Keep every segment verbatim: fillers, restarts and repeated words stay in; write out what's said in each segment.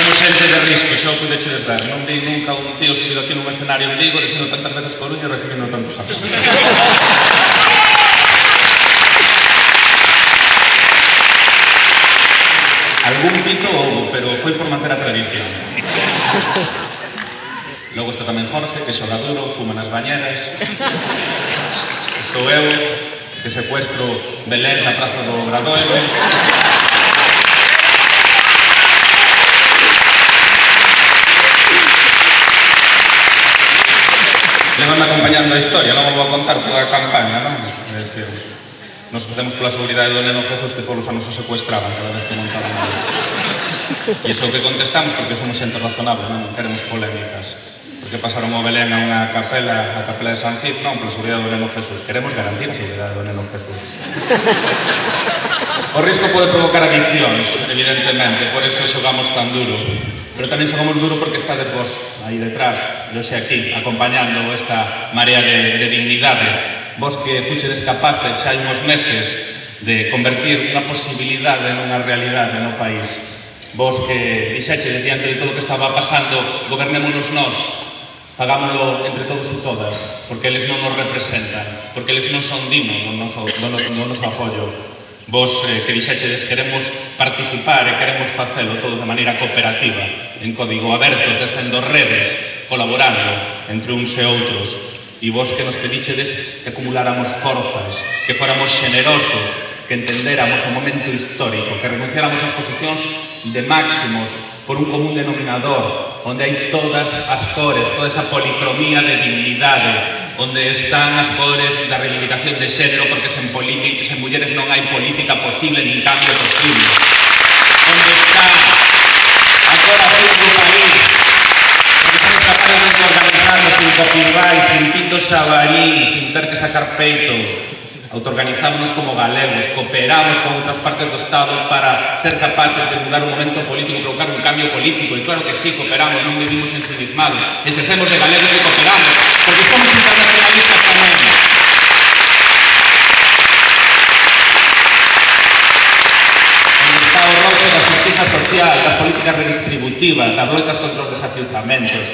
somos xente de risco, xa o pudechedes ver. Non vi nunca un tío subido aquí nun escenario en Vigo dicindo tantas veces Coruña e recibindo tantos aplausos. Algún pito houbo, pero foi por manter a tradición. Logo está tamén Jorge, que xoga duro, fuma nas bañeras. Estou eu, que secuestro Belén na praza do Obradoiro. Levanme acompañando a historia, non vou a contar toda a campaña, non? É dicir, nos facemos pola seguridade do neno Jesús que todos os anos o secuestraban cada vez que montaban algo. E iso que contestamos porque somos xente razonable, non queremos polémicas. Porque pasaron o Belén a unha capela, a capela de San Cid, non, pola seguridade do neno Jesús. Queremos garantir a seguridade do neno Jesús. O risco pode provocar adiccións, evidentemente, por eso xogamos tan duro. Pero tamén xogamos duro porque estades vos aí detrás, eu xe aquí, acompañando esta marea de, de dignidade. Vos que fuchedes capaces xa hai uns meses de convertir unha posibilidade nunha realidade no país. Vos que dixechedes diante de todo o que estaba pasando, gobernémonos nós, fagámoslo entre todos e todas, porque eles non nos representan, porque eles non son dignos do noso, do, do noso apoio. Vos eh, que dixechedes queremos participar e queremos facelo todo de maneira cooperativa, en código aberto, tecendo redes, colaborando entre uns e outros. E vos que nos pedichedes que acumuláramos forzas, que fóramos xenerosos, que entendéramos o momento histórico, que renunciáramos ás posicións de máximos por un común denominador, onde hai todas as cores, toda esa policromía de dignidade, onde están as cores da reivindicación de xénero, porque sen, sen mulleres non hai política posible nin cambio posible. Onde está a corazón do país, porque somos capaces de organizarnos sin copyright, sin pinto xabarín, sin ter que sacar peito. Autoorganizámonos como galegos, cooperamos con outras partes do Estado para ser capaces de mudar un momento político, provocar un cambio político, e claro que sí, cooperamos, non vivimos ensimismados, exercemos de galegos e cooperamos, porque somos internacionalistas tamén. Onde está o roxo da justiza social, das políticas redistributivas, das loitas contra os desafiuzamentos,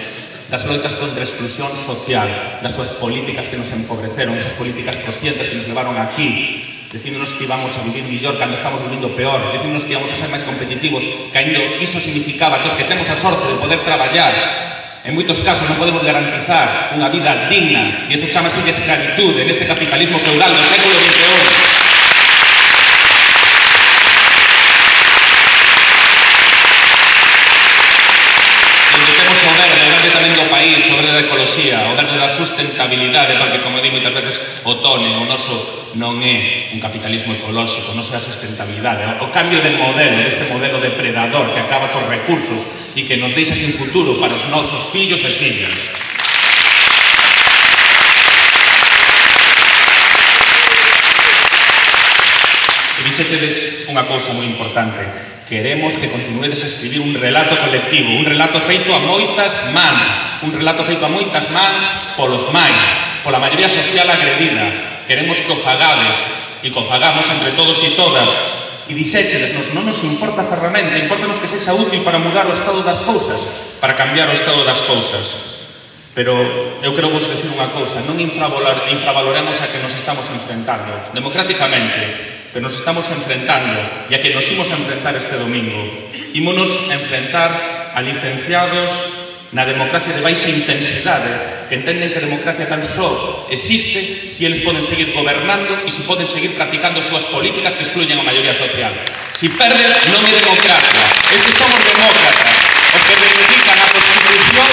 das loitas contra a exclusión social, das súas políticas que nos empobreceron, esas políticas conscientes que nos levaron aquí, dicíndonos que íbamos a vivir millor cando estamos vivindo peor, dicíndonos que íbamos a ser máis competitivos, cando iso significaba que os que temos a sorte de poder traballar, en moitos casos non podemos garantizar unha vida digna, e iso chamase de escravitude neste capitalismo feudal do século vinte e un. O verde da ecoloxía, o verde da sustentabilidade, porque, como digo moitas veces, o tone, o noso non é un capitalismo ecolóxico, non é a sustentabilidade, o cambio de modelo, deste modelo depredador que acaba cos recursos e que nos deixa sin futuro para os nosos fillos e fillas. E dixétedes unha cousa moi importante: queremos que continuedes a escribir un relato colectivo, un relato feito a moitas mans, un relato feito a moitas mans polos máis, pola maioría social agredida. Queremos que o fagades e que o fagamos entre todos e todas. E dixéchedes, non nos importa a ferramenta, importanos que sexa útil para mudar o estado das cousas, para cambiar o estado das cousas. Pero eu quero vos decir unha cousa, non infravaloremos a que nos estamos enfrentando, democráticamente, pero nos estamos enfrentando, e a que nos imos a enfrentar este domingo. Ímonos a enfrentar a licenciados na democracia de baixa intensidade, que entenden que a democracia tan só existe se eles poden seguir gobernando e se poden seguir practicando as súas políticas que excluyen a maioría social. Si perden, non é democracia. Estes somos demócratas, os que reivindican a Constitución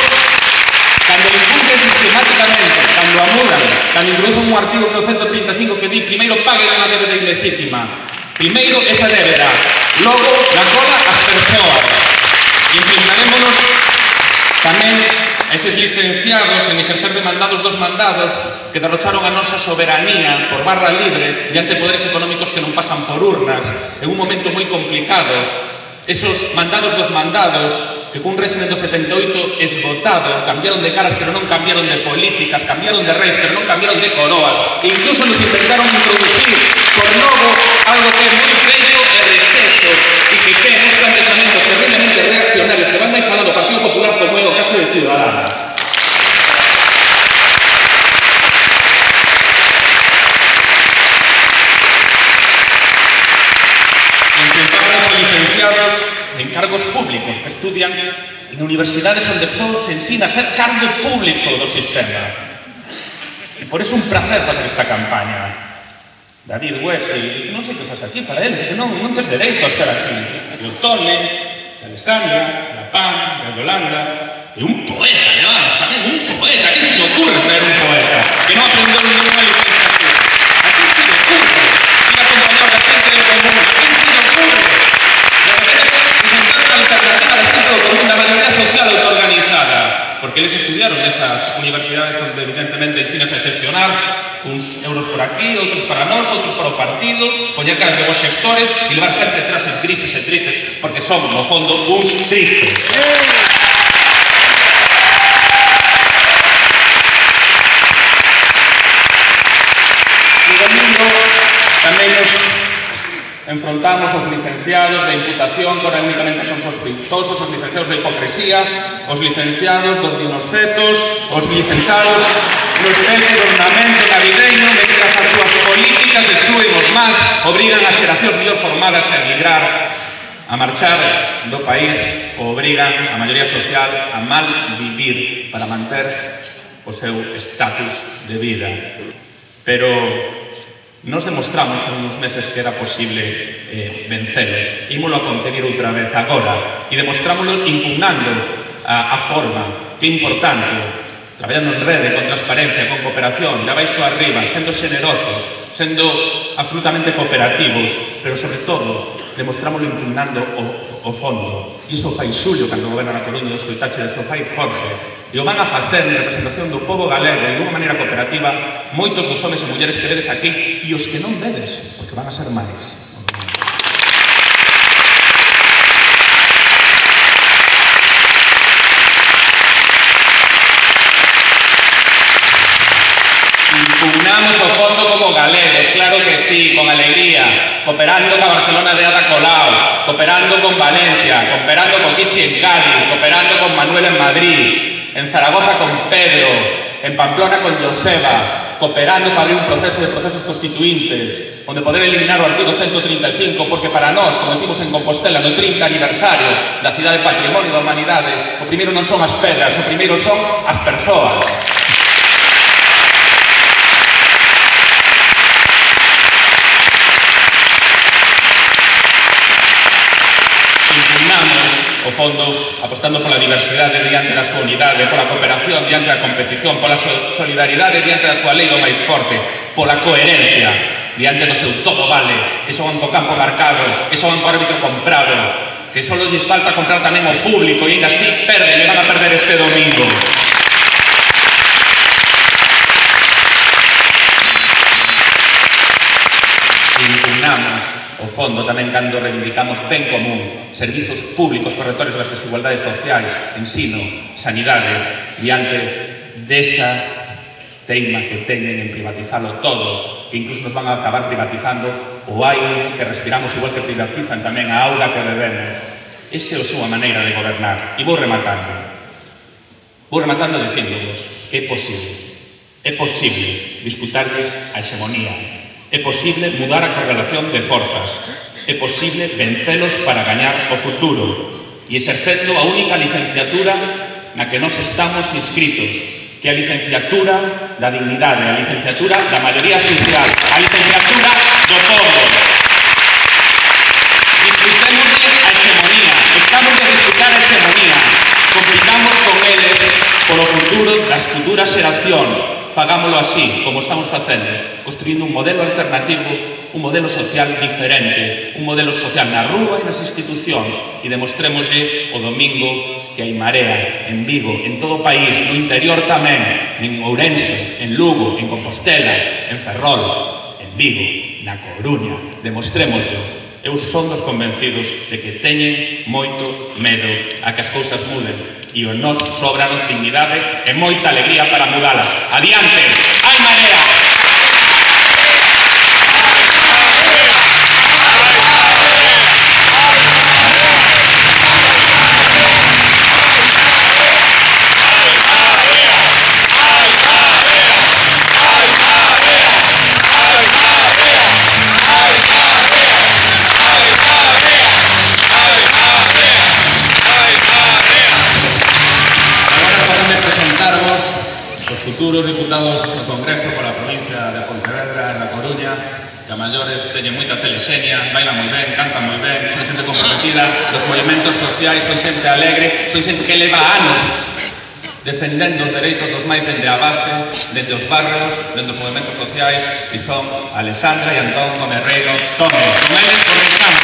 cando incumplen sistemáticamente, cando amudan, cando introducen un artigo que é o ciento trinta e cinco que di primeiro paguen unha débeda ilexítima, primeiro esa débeda, logo na cola as persoas. E enfrentarémonos tamén a eses licenciados en exercer de mandados dos mandados que derrocharon a nosa soberanía por barra libre diante de poderes económicos que non pasan por urnas en un momento moi complicado. Esos mandados dos mandados que cun régimen do setenta e oito esgotado cambiaron de caras pero non cambiaron de políticas, cambiaron de reis pero non cambiaron de coroas, e incluso nos intentaron introducir por novo algo que é moi bello e receso e que ten un planteamento terriblemente reaccionarios que van cargos públicos que estudian en universidades onde só se ensina a ser cargo público do sistema. E por iso un placer facer esta campaña. David Wesley, non sei que faz aquí para eles, que non, non tes dereito a estar aquí. E o Tone, a Alessandra, a Pan, a Yolanda, e un poeta, llevamos, tamén un poeta, que se le ocurre traer un poeta, que non aprendeu ninguna licenciatura. A quen se le ocurre ir a acompañar a xente do común, a quen se le ocurre de repente presentar unha alternativa da xente do común, da mayoría social autoorganizada, porque eles estudiaron nesas universidades onde evidentemente ensinas a xestionar, uns euros por aquí, outros para nós, outros para o partido, poñer caras de vos xestores e levar xente detrás en crisis e tristes, porque son, no fondo, uns tristes. E domingo tamén nos enfrontamos os licenciados da imputación, que ahora únicamente son sospeitosos, os licenciados da hipocresía, os licenciados dos dinosetos, os licenciados no especie de ornamento navideño, mentras as súas políticas destruen os más, obrigan as xeracións mellor formadas a emigrar, a marchar do país, ou obrigan a maioría social a mal vivir para manter o seu estatus de vida. Pero nos demostramos en uns meses que era posible eh, vencelos. Ímolo a contenir outra vez agora e demostrámoslo impugnando a, a forma, que é importante, traballando en rede, con transparencia, con cooperación, de abaixo a arriba, sendo generosos, sendo absolutamente cooperativos, pero sobre todo demostrámoslo impugnando o, o fondo. E iso fai Xulio cando goberna na Coruña, o escoitache de Sofai Jorge. E o van a facer en representación do povo galego e dunha maneira cooperativa moitos dos homes e mulleres que vedes aquí e os que non vedes, porque van a ser máis. Impugnamos o fondo como galegos, claro que sí, con alegría, cooperando con Barcelona de Ada Colau, cooperando con Valencia, cooperando con Kichi en Cádiz, cooperando con Manuel en Madrid, en Zaragoza con Pedro, en Pamplona con Joseba, cooperando para abrir un proceso de procesos constituintes, onde poder eliminar o artigo ciento treinta e cinco, porque para nós, como decimos en Compostela, no trinta aniversario da cidade Patrimonio da Humanidade, o primeiro non son as pedras, o primeiro son as persoas. O fondo, apostando pola diversidade diante da súa unidade, pola cooperación diante da competición, pola solidaridade diante da súa lei do máis forte, pola coherencia diante do seu todo vale, que son co campo marcado, que son co árbitro comprado, que só lles falta comprar tamén o público e ainda así perden e van a perder este domingo. Impugnamos o fondo tamén cando reivindicamos ben común, servizos públicos correctores das desigualdades sociais, ensino, sanidade, diante desa teima que teñen en privatizalo todo, que incluso nos van a acabar privatizando o aire que respiramos, igual que privatizan tamén a auga que bebemos. Esa é a súa maneira de gobernar. E vou rematando. Vou rematando dicíndovos que é posible. É posible disputarles a hexemonía. É posible mudar a correlación de forzas. É posible vencelos para gañar o futuro e exercendo a única licenciatura na que nos estamos inscritos, que é a licenciatura da dignidade, a licenciatura da maioría social, a licenciatura do povo. Disfrutémosle a hexemonía, estamos de disfrutar a hexemonía, complicamos con eles polo futuro das futuras xeracións. Fagámoslo así, como estamos facendo, construindo un modelo alternativo, un modelo social diferente, un modelo social na rúa e nas institucións, e demostrémoslle o domingo que hai marea en Vigo, en todo o país, no interior tamén, en Ourense, en Lugo, en Compostela, en Ferrol, en Vigo, na Coruña. Demostrémoslo. Eu son dos convencidos de que teñen moito medo a que as cousas muden. E o nos sobranos dignidade e moita alegría para mudalas. Adiante, hai marea! Ay, da de Pontevedra, da Coruña, que a maiores teñen moita telesenia, bailan moi ben, cantan moi ben, son xente comprometida dos movimentos sociais, son xente alegre, son xente que leva anos defendendo os dereitos dos máis dende a base, dende os barrios, dende os movimentos sociais, e son Alexandra e Antón Comerreiro Tómez. Con eles comenzamos.